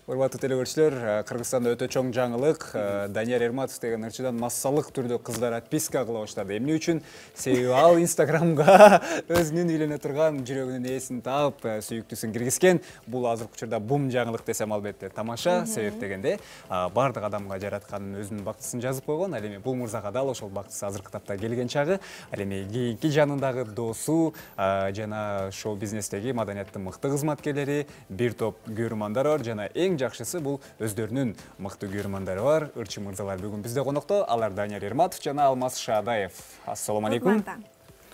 Урматтуу телекөрүүчүлөр, Кыргызстанда өтө чоң жаңылык. Данияр Эрматов деген ырчыдан массалык түрдө кыздар отписка кыла баштады. Эмне үчүн? Себеби ал Инстаграмга өзүнүн үйлөнө турган жүрөгүнүн ээсин таап, сүйүктүүсүн киргизген. Бул азыркы учурда бум жаңылык десем албетте тамаша. Себеп дегенде бардык адамга жараткан өзүнүн бактысын жазып койгон. Ал эми бул мырзага дал ошол бактысы азыркы тапта келген чагы. Ал эми кийинки жанындагы досу жана шоу бизнестеги маданияттын мыкты кызматкерлери, бир топ көрөрмандар бар жана эң жакшысы бул өздөрүнүн мыкты көрөрмандары бар ырчы мырзалар бүгүн бизде конокто. Алар Данияр Эрматов жана Алмаз Шаадаев. Ассалому алейкум.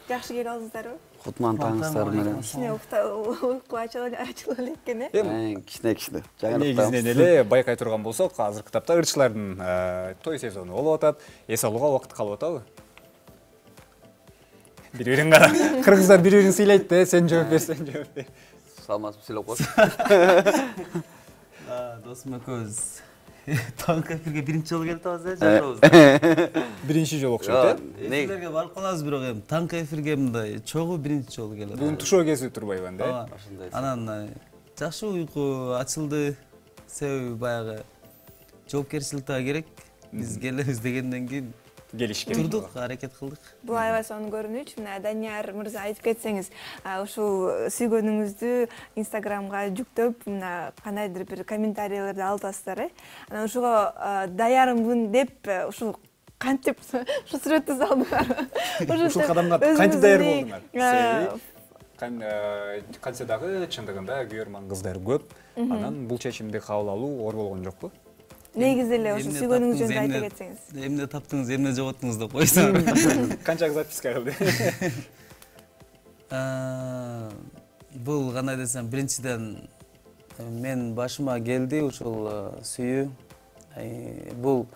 Жакшы келип алдыңыздарбы? Кутман таңыңыздар менен. Кичине уйку ачылып экен, Кичине. Негизинен эле байкай турган болсок, азыркы тапта ырчылардын той сезону болуп атат. Эс алууга убакыт калып атабы? Бири-бирин кара. Кыргыздар бири-бирин сыйлайт да, сен жооп бер, сен жооп бер. Салмасып сүйлөп коесуң. Досум экөөбүз таңкы эфирге биринчи жолу келип атабыз жашообузда. Биринчи жолу окшойт, Эфирлерге барып калабыз, бирок эми таңкы эфирге мындай чогуу биринчи жолу келип. Бүгүн тушоо кезип турбайбы анда? Анан жакшы уйку ачылды. Себеби баягы жоопкерчилик да керек. Биз келебиз дегенден кийин келишкен. Турдук, аракет кылдык. Бул аябай сонун көрүнүч. Мына Данияр мырза айтып кетсеңиз, ушул сүйгөнүңүздү Инстаграмга жүктөп, мына кандайдыр бир комментарийлерди алып атасыздар, Анан ушуга даярмын деп ушул кантип ушу сүрөттү салдыңар? Ушул кадамга кантип даяр болдуңар? Кантсе дагы чындыгында көрөрман кыздар көп. Анан бул чечимди кабыл алуу оор болгон жокпу? Негизи эле ушу сүйгөнүңүз жөнүндө айта кетсеңиз. Эмне таптыңыз, эмне жоготтуңуз деп койсоң. Канча кыз отписка кылды? Бул кандай десем, биринчиден мен башыма келди ушул сүйүү. Бул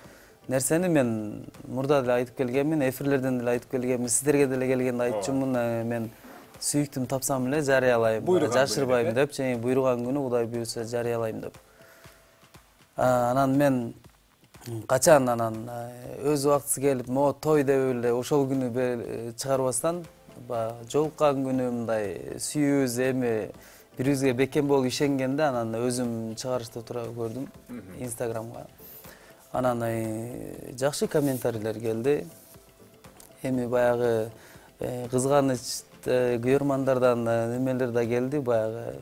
нерсени мен мурда деле айтып келгенмин, эфирлерден деле айтып келгенмин, сиздерге деле келгенде айтчумун. Мен сүйүктүм тапсам эле жарыялайм, жашырбайм деп, және буйруган күнү Кудай буйруса жарыялайм деп. Анан мен качан өз убактысы келип, той деп эле ошол күнү чыгарбастан, жолуккан күнү мындай сүйүүбүз эми бирибизге бекем болуп ишенгенде, анан өзүм чыгарышты тура көрдүм Инстаграмга. Анан жакшы комментарийлер келди. Эми баягы кызганыч көрөрмандардан немелер да келди, баягы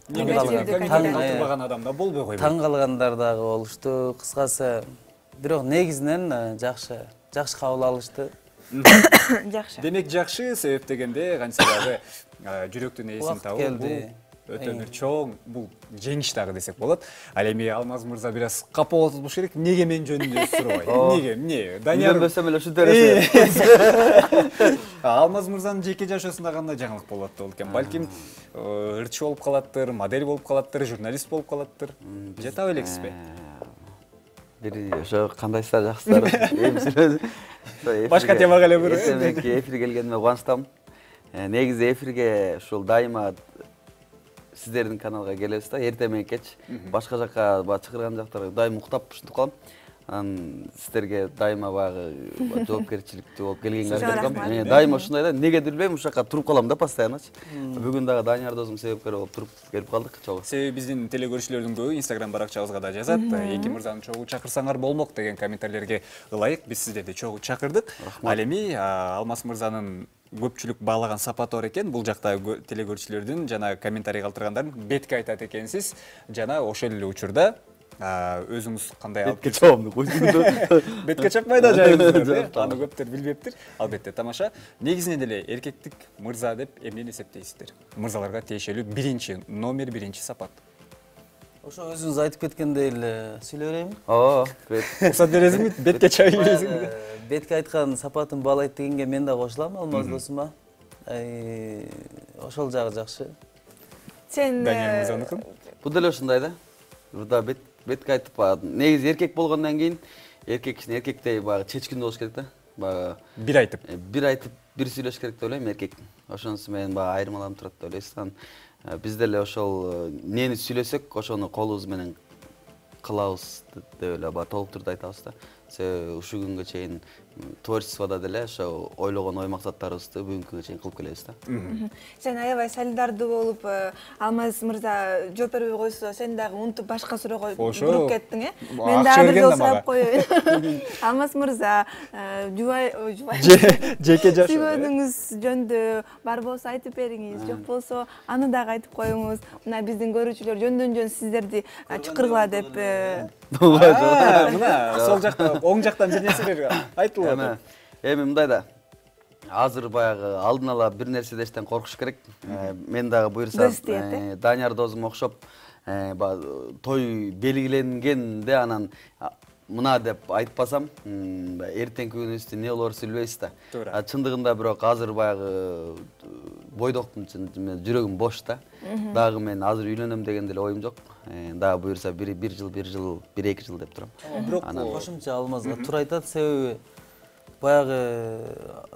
таң адамда болбой койбойт. Таң калгандар дагы болушту. Кыскасы, бирок негизинен жакшы кабыл алышты. Жакшы. Демек жакшы, себеп дегенде канча дагы жүрөктүн ээсин табуу бул өтө бир чоң, бул жеңиш дагы десек болот. Ал эми Алмаз мырза бир аз капа болуп болуш керек. Неге мен жөнүндө сурабайт? Неге? Эмне? Данияр Үйлөнбөсөм эле ушинтип бересиң. Алмаз мырзанын жеке жашоосунда кандай жаңылык болуп атты экен? Балким ырчы болуп калаттыр, модель болуп калаттыр, журналист болуп калаттыр. Жата белексизби? Бир ошо кандайсыздар, жакшысыздар? Башка темага эле бир. Эфирге келгениме кубанычтамын. Негизи эфирге ушул дайыма сиздердин каналга келебиз да, эртең менен кеч башка жакка чакырган жактарга дайыма уктап ушинтип калам. Анан сиздерге дайыма баягы жоопкерчиликтүү болуп келгенге аракет. Дайыма ушундай да, негедир билбейм, ушул жакка туруп калам да постоянно. Бүгүн дагы Данияр досум себепкер болуп туруп келип калдык чогуу. Себеби биздин телекөрүүчүлөрдүн көбү Инстаграм баракчабызга да жазат. Эки мырзаны чогуу чакырсаңар болмок деген комментарийлерге ылайык биз сиздерди чогуу чакырдык. Ал эми Алмаз мырзанын көпчүлүк баалаган сапаты бар экен. Бул жакта телекөрүүчүлөрдүн жана комментарий калтыргандардын бетке айтат экенсиз. Жана ошол эле учурда өзүңүз кандай алып келип бетке чаппай да жайыңыздар. Аны көптөр билбептир. Албетте тамаша. Негизинен эле эркектик мырза деп эмнени эсептейсиздер? Мырзаларга тиешелүү биринчи номер, биринчи сапат. Ошо өзүңүз айтып кеткендей эле сүйлөй берейинби? Уруксат бересиңби? Бетке чабай бересиңби? Бетке айткан сапатын баалайт дегенге мен да кошулам, Алмаз досума. Ошол жагы жакшы. Сен Данияр мырзаныкын? Бул деле ушундай да. Мурда бетке айтып, негизи эркек болгондон кийин эркек киши эркектей баягы чечкиндүү болуш керек да. Баягы бир айтып, бир сүйлөш керек деп ойлойм эркек. Ошонусу менен баягы айырмаланып турат деп ойлойсуз. Биз деле ошол эмнени сүйлөсөк, ошону колубуз менен кылабыз деп эле толук түрдө айтабыз да. себеби ушул күнгө чейин творчестводо деле ошо ойлогон ой максаттарыбызды бүгүнкү күнгө чейин кылып келебиз да. Сен аябай солидардуу болуп, Алмаз мырза жооп бербей койсо, сен дагы унутуп башка суроого буруп кеттиң, Мен дагы бир жолу сурап коеюн. Алмаз мырза, жубай жеке жаш сүйгөнүңүз жөнүндө бар болсо айтып бериңиз, жок болсо аны дагы айтып коюңуз. Мына биздин көрүүчүлөр жөндөн-жөн сиздерди чакыргыла деп. Мына сол жакта, оң жактан бир нерселер айтылып атат. Эми мындай да. Азыр баягы алдын ала бир нерседештен коркуш керек. Мен дагы буюрса Данияр досум окшоп той белгиленгенде анан мына деп айтпасам, эртеңки күнүбүздө эмне болорун билбейбиз да. Чындыгында бирок азыр баягы бойдоктун жүрөгүм бош да. Дагы мен азыр үйлөнөм деген деле оюм жок. Дагы буюрса бир жыл, 1-2 жыл деп турам. Бирок кошумча Алмазга туура айтат, себеби баягы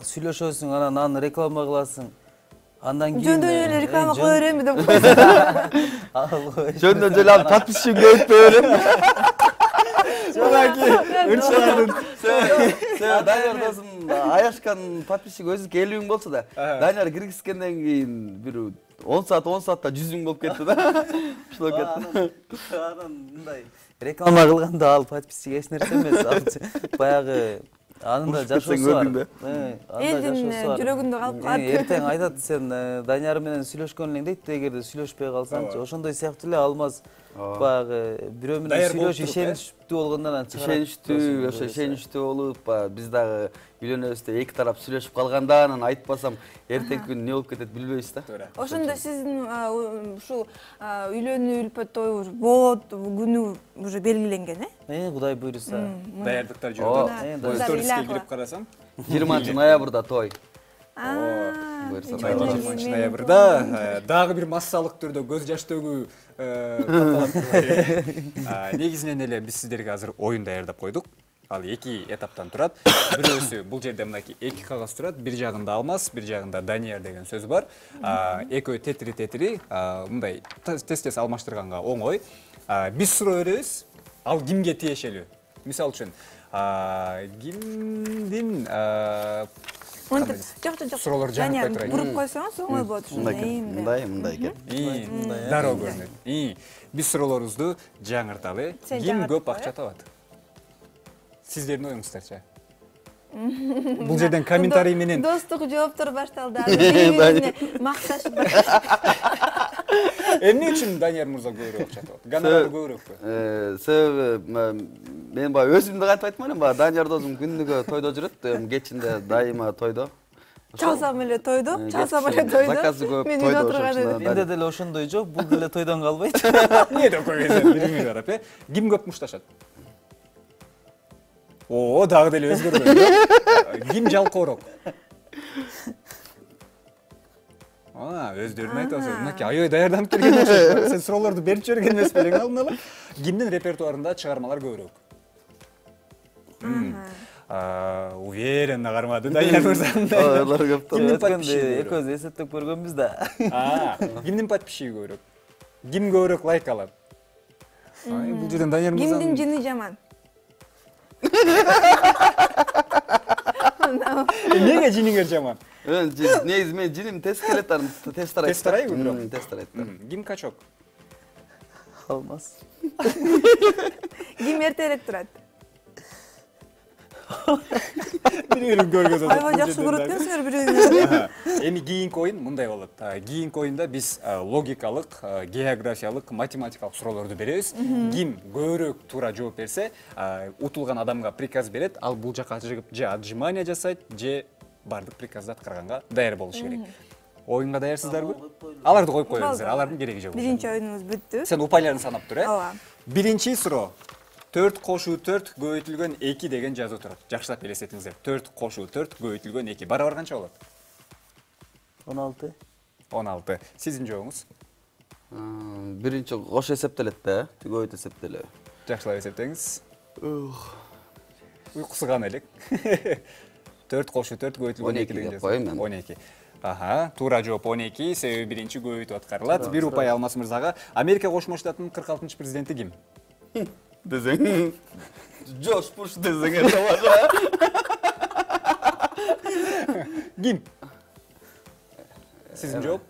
сүйлөшөсүң, анан аны реклама кыласың. Андан кийин жөндөн эле реклама кыла беремби деп койсоң. Жөндөн эле алып подписчигин көбөйтпөй берем. Данияр досум аяшкан подписчик өзүнүкү 50 000 болсо да, Данияр киргизгенден кийин бир 10 саатта 100 000 болуп кетти да. Ушулай кетти. Анан мындай реклама кылганда ал подписчик эч нерсе эмес. Баягы анын да жашоосу бар. Элдин жүрөгүндө калып калат. Эртең айтат, сен Данияр менен сүйлөшкөн элең дейт, эгерде сүйлөшпөй калсаңчы. Ошондой сыяктуу эле Алмаз баягы бирөө менен сүйлөшүп ишеничтүү болгондон анан ишеничтүү болуп, биз дагы үйлөнөбүз деп эки тарап сүйлөшүп калганда анан айтпасам эртеңки күнү эмне болуп кетет билбейбиз да. Ошондо сиздин ушул үйлөнүү үлпөт тою болот күнү уже белгиленген, Кудай буйруса. Даярдыктар жүрүүдө. Сториске кирип карасам, 20 ноябрда той. 20 ноябрда дагы бир массалык түрдө көз жаш төгүү катталат. Негизинен эле биз сиздерге азыр оюн даярдап койдук. Ал 2 этаптан турат. Бирөөсү бул жерде мынакей 2 кагаз турат. Бир жагында Алмаз, бир жагында Данияр деген сөз бар. Экөө тетири, мындай тез алмаштырганга оңой. Биз суроо беребиз. Ал кимге тиешелүү? Мисалы үчүн, кимдин Жок. суроолор жаңыртпай турайын. Буруп койсоңуз оңой болот ушундай. Мындай экен. Дароо көрүнөт. Биз суроолорубузду жаңырталы. Ким көп акча табат? Сиздердин оюңуздарча. Бул жерден комментарий менен достук жооптор башталды. Бири-бирине макташып. Эмне үчүн Данияр мырза көбүрөөк акча табат? Гонорары көбүрөкпү? Себеби мен баягы өзүмдү кантип айтман элем, баягы Данияр досум күндүгө тойдо жүрөт, кечинде дайыма тойдо. Чалсам эле тойдо, Заказы көп тойдо. Менде деле ошондой жок, бул деле тойдон калбайт. Эмне деп койгонсуң, бириңи карап, Ким көп мушташат? Дагы деле өзгөрбөйт. Ким жалкоорок? Өздөрүн айтасың. Мынакей аябай даярданып келген окшойт. Сен суроолорду берип жиберген эмес белең алдын ала. Кимдин репертуарында чыгармалар көбүрөөк? Уверенно кармады Данияр мырза. Алар көп да. Кимдин подписчиги? Экөөбүз эсептеп көргөнбүз да. Кимдин подписчиги көбүрөөк? Ким көбүрөөк лайк алат? Бул жерден Данияр мырза. Кимдин жини жаман? Эмнеге жиниңер жаман? Негизи мен жиним тез келет, тез тарайт. Тез тарайбы бирок? Тез тарайт. Ким качок? Алмаз. Ким эртерээк турат? Бири-бирин көргөзөт. Аябай жакшы көрөт экенсиңер бири-бириңерди. Эми кийинки оюн мындай болот. Кийинки оюнда биз логикалык, географиялык, математикалык суроолорду беребиз. Ким көбүрөөк туура жооп берсе, утулган адамга приказ берет. Ал бул жака чыгып же отжимание жасайт, же бардык приказды аткарганга даяр болуш керек. Оюнга даярсыздарбы? Аларды коюп коебуз, алардын кереги жок. Биринчи оюнубуз бүттү. Сен упайларын санап тур, Ооба. Биринчи суроо. 4 кошуу 4 көбөйтүлгөн 2 деген жазуу турат. Жакшылап элестетиңиздер. 4 кошуу 4 көбөйтүлгөн 2. Барабар канча болот? 16. 16. Сиздин жообуңуз? Биринчи кош эсептелет да, көбөйт эсептелеби. Жакшылап эсептеңиз. Уйкусуган элек. 4 кошуу 4 көбөйтүлгөн 2 деген жазуу. 12. Туура жооп 12, себеби биринчи көбөйтүп аткарылат. Бир упай Алмаз мырзага. Америка Кошмо Штатынын 46-президенти ким? десең, Джордж Буш десең тамаша. Ким? Сиздин жооп?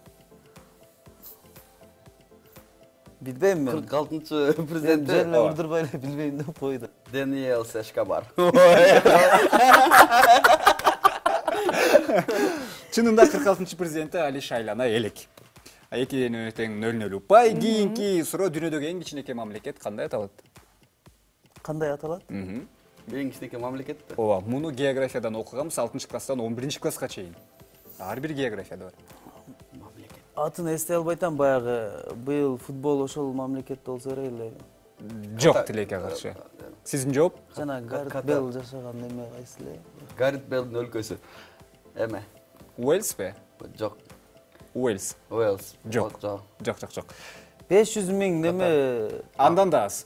Билбейм мен. 46-чы президент Жерle урдурбай эле билбейм деп койду. Даниэл Эшкобар. Чынында 46-чы президенти Али Шайлана элек. Экинин тең 0-0 упай. Кийинки суроо дүйнөдөгү эң кичинекей мамлекет кандай аталат? Кандай аталат? Эң кичинекей мамлекет. Ооба, муну географиядан окуганбыз 6-класстан 11-класска чейин. Ар бир географияда бар. Атын эстей албай атам, баягы быйыл футбол ошол мамлекетте болсо керек эле. Жок, тилекке каршы. Сиздин жооп? Жана Гарет Бейл жашаган неме кайсы эле? Гарет Бейлдин өлкөсү. Эме? Уэльспи? Жок. Уэльс. Уэльс. Жок. Жок. 500 миң неме? Андан да аз.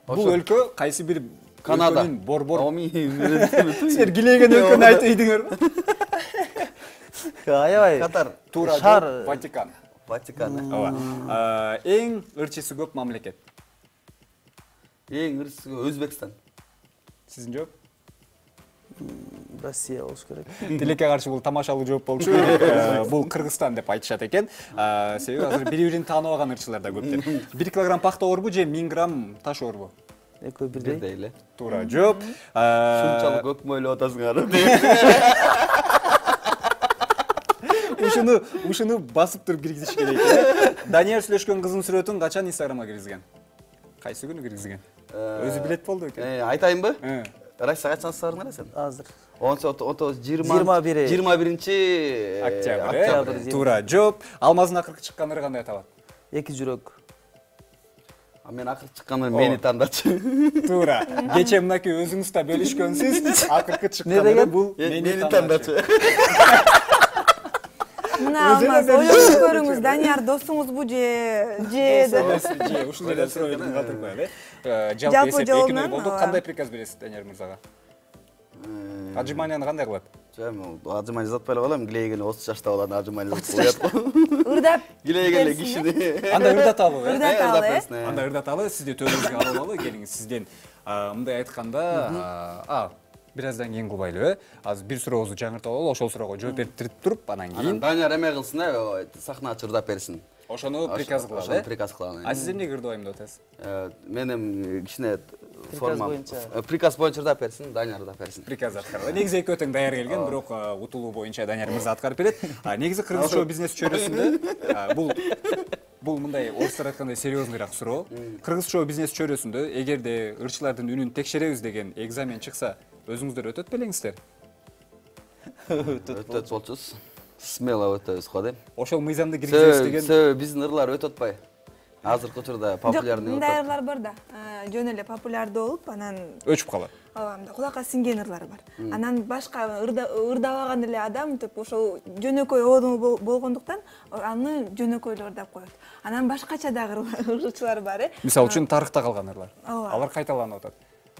Бул өлкө кайсы бир Канада. борбор. Силер килеген өлкөнү айтып ийдиңерби? Аябай. Катар. Туура Шаар. жооп, Ватикан. Ватикан. Ооба. Эң ырчысы көп мамлекет. Эң ырчысы Өзбекстан. Сиздин жооп? Россия болуш керек. Тилекке каршы бул тамашалуу жооп болчу. Бул Кыргызстан деп айтышат экен. Себеби азыр бири-бирин тааныбаган ырчылар да көп деп. 1 килограмм пахта орбу же 1000 грамм таш орбу? Экөө бирдей. Бирдей эле. Туура жооп. Ушунчалык көп мойлоп атасыңар. Ушуну басып туруп киргизиш керек. Данияр сүйлөшкөн кыздын сүрөтүн качан Инстаграмга киргизген? Кайсы күнү киргизген? Өзү билет болду экен. Айтайынбы? Россия качан сарыңар сен? Азыр. 21-чи октябрь. Туура жооп. Алмаздын акыркы чыккан ыры кандай аталат? Эки жүрөк. Мен акыркы чыкканда мени тандачы. Туура. Кече мынакей өзүңүз да бөлүшкөнсүз. Акыркы чыккан ыры бул мени тандачы. Мына Алмаз, ойлонуп көрүңүз, Данияр досуңузбу же ушундай эле суроо бердим, калтырып коелу. Жалпы эсеп 2-0 болду. Кандай приказ бересиз Данияр мырзага? Отжиманияны кандай кылат? Отжимания жасатпай эле коелом, килейгени 30 жашта болот, отжимания жасап коет. ырдап Килейген кишини. Анда ырдаталы. Анда ырдаталы, сизди төрүбүзгө алып алалы, келиңиз. Сизден мындай айтканда, бир аздан кийин кылбайлыбы? Азыр бир сурообузду жаңыртып алалы, ошол суроого жооп берип туруп, анан кийин Данияр эме кылсын, сахнага чырдап берсин. ошону приказ кылалы. Ошону приказ кылалы. А сиз эмнеге ырдабайм деп атасыз? Мен эми кичине Приказ боюнча. Приказ боюнча ырдап берсин, Данияр ырдап берсин. Приказ аткаралы. Негизи экөө тең даяр келген, бирок утулуу боюнча Данияр мырза аткарып берет. Негизи кыргыз шоу бизнес чөйрөсүндө бул мындай орустар айткандай серьезныйраак суроо. Кыргыз шоу бизнес чөйрөсүндө эгерде ырчылардын үнүн текшеребиз деген экзамен чыкса, өзүңүздөр өтөт белеңиздер? Өтөт болчусуз. Смело өтөбүз го дейм. Ошол мыйзамды киргизебиз деген. Себеби биздин ырлар өтө атпай. Азыркы учурда популярный мындай ырлар бар да, жөн эле популярдуу болуп, анан Өчүп калат. ооба, мындай кулакка сиңген ырлар бар. Анан башка ырдабаган эле адам ошол жөнөкөй оодуу болгондуктан аны жөнөкөй эле ырдап коет. Анан башкача дагы ырчылар бар, Мисалы үчүн тарыхта калган ырлар. Ооба. Алар кайталанып атат.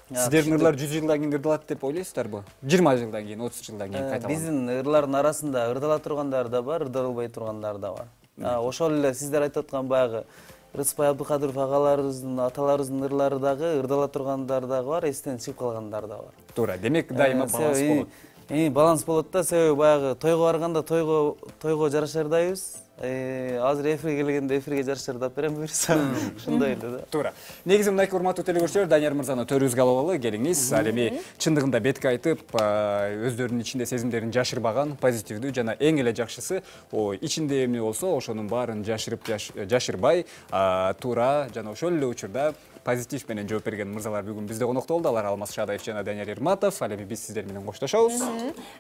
Сиздердин ырлар 100 жылдан кийин ырдалат деп ойлойсуздарбы? 20 жылдан кийин, 30 жылдан кийин кайталанат. Биздин ырлардын арасында ырдала тургандар да бар, ырдалбай тургандар да бар. Ошол эле сиздер айтып аткан баягы Рыспай Абдыкадыров агаларыбыздын, аталарыбыздын ырлары дагы, ырдала тургандар дагы бар, эстен чыгып калгандар да бар. Туура. Демек дайыма баланс болот. Баланс болот да, себеби баягы тойго барганда тойго жараша ырдайбыз. Азыр эфирге келгенде эфирге жараша ырдап берем буюрса. Ушундай эле да. Туура. Негизи мындай урматтуу телекөрүүчүлөр, Данияр мырзаны төрүбүзгө алып алалы, келиңиз. Ал эми чындыгында бетке айтып, өздөрүнүн ичинде сезимдерин жашырбаган, позитивдүү жана эң эле жакшысы, ичинде эмне болсо, ошонун баарын жашырбай, туура жана ошол эле учурда позитив менен жооп берген мырзалар бүгүн бизде конокто болду. Алар Алмаз Шадаев жана Данияр Эрматов. Ал эми биз сиздер менен коштошобуз.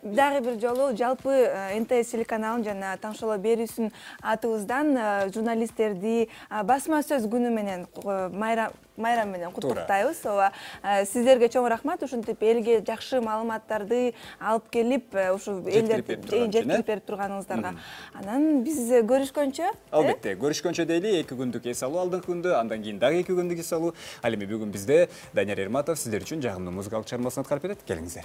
Дагы бир жолу жалпы НТС телеканалын жана Таңшоло берүүсүнүн атыбыздан журналисттерди басма сөз күнү менен майрам менен куттуктайбыз. Ооба, сиздерге чоң рахмат. Ушинтип элге жакшы маалыматтарды алып келип, ушу элдерге жеткирип берип турганыңыздарга. Анан биз көрүшкөнчө, албетте, көрүшкөнчө дейли, 2 күндүк эс алуу алдыңкы күндө, андан кийин дагы 2 күндүк эс алуу. Ал эми бүгүн бизде Данияр Эрматов сиздер үчүн жагымдуу музыкалык чыгармасын аткарып берет. Келиңиздер.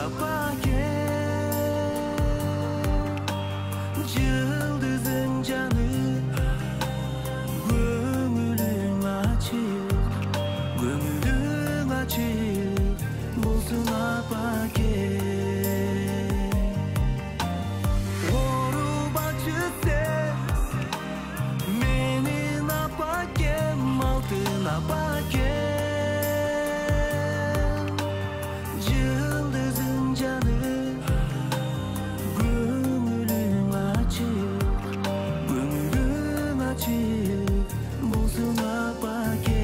апаке жылдызың жаны көңүлүң ачык болсун апаке оорубачы сен менин апакем алтын апакем жылдызың жаны көңүлүң ачык болсун апаке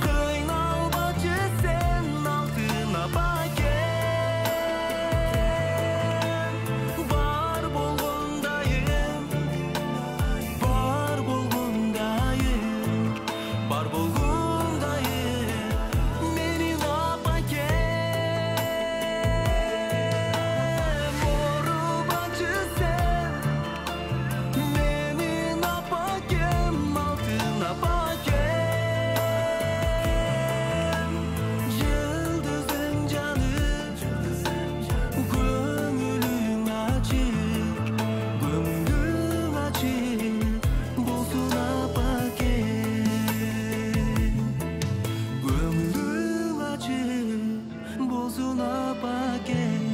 кыйналбачы сен алтын апакем бар болгондайым менин апакем оорубачы сен менин апакем алтын апакем жылдызың жаны көңүлүң ачык болсун апаке көңүлүң ачык болсун апаке